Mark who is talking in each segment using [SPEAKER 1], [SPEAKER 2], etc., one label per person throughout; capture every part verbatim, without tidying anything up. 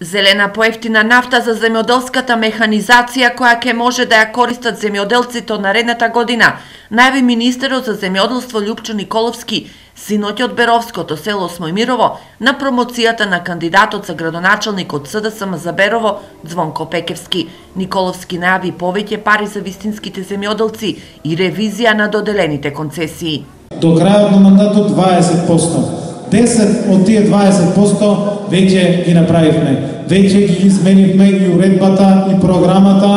[SPEAKER 1] Зелена поевтина нафта за земјоделската механизација која ќе може да ја користат земјоделците од наредната година, најави министерот за земјоделство Љупчо Николовски синоќ од Беровското село Смојмирово на промоцијата на кандидатот за градоначалник од СДСМ за Берово Звонко Пекевски. Николовски најави повеќе пари за вистинските земјоделци и ревизија на доделените концесии.
[SPEAKER 2] До крајот на мандатот дваесет проценти. десет од тие дваесет проценти веќе ги направивме. Веќе ги изменивме и уредбата и програмата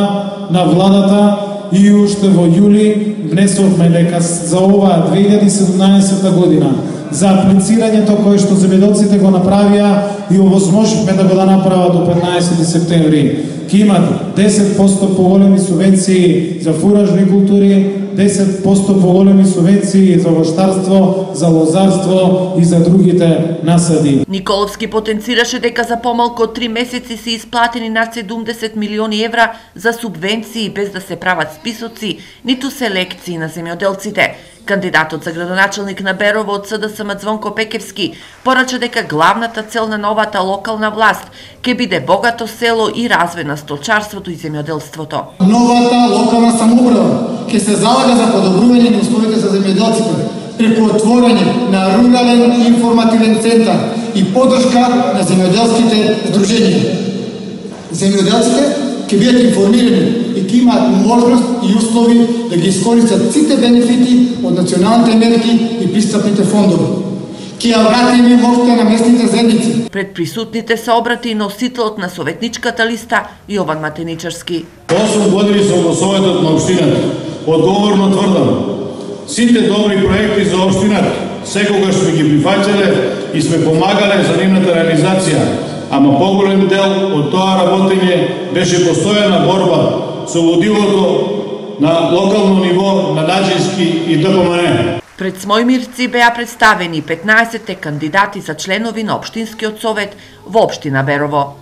[SPEAKER 2] на владата и уште во јули внесовме дека за оваа две илјади и седумнаесета година за аплицирањето кое што земјоделците го направија и овозможивме да го да направат до петнаесети септември. Ке имат десет проценти поголеми субвенции за фуражни култури, десет проценти поголеми субвенции за воштарство, за лозарство и за другите насади.
[SPEAKER 1] Николовски потенцираше дека за помалку од три месеци се исплатени над седумдесет милиони евра за субвенции без да се прават списоци, ниту селекции на земјоделците. Кандидатот за градоначалник на Берово од СДСМ Звонко Пекевски порача дека главната цел на новата локална власт ќе биде богато село и развој на столчарството и земјоделството.
[SPEAKER 3] Новата локална самоуправа ќе се залага за подобрување на условите за земјоделците преку отворање на рурален информативен центар и поддршка на земјоделските здруженија. Земјоделците ќе бидат информирани и ќе имаат можност и услови да ги искористат сите бенефити од националните мерки и пристапните фондови. Ќе ја вратиме моќта на местните заедници.
[SPEAKER 1] Пред присутните се обрати и носителот на советничката листа Јован Матеничарски.
[SPEAKER 4] осум години сум во советот на општината. Одговорно тврдам, сите добри проекти за општината секогаш сме ги прифаќале и сме помагале за нивната реализација. Ама поголем дел од тоа работење беше постојана борба со водилото на локално ниво на Наџински и ДПМН.
[SPEAKER 1] Пред Смојмирци беа представени петнаесет кандидати за членови на Општинскиот совет во општина Берово.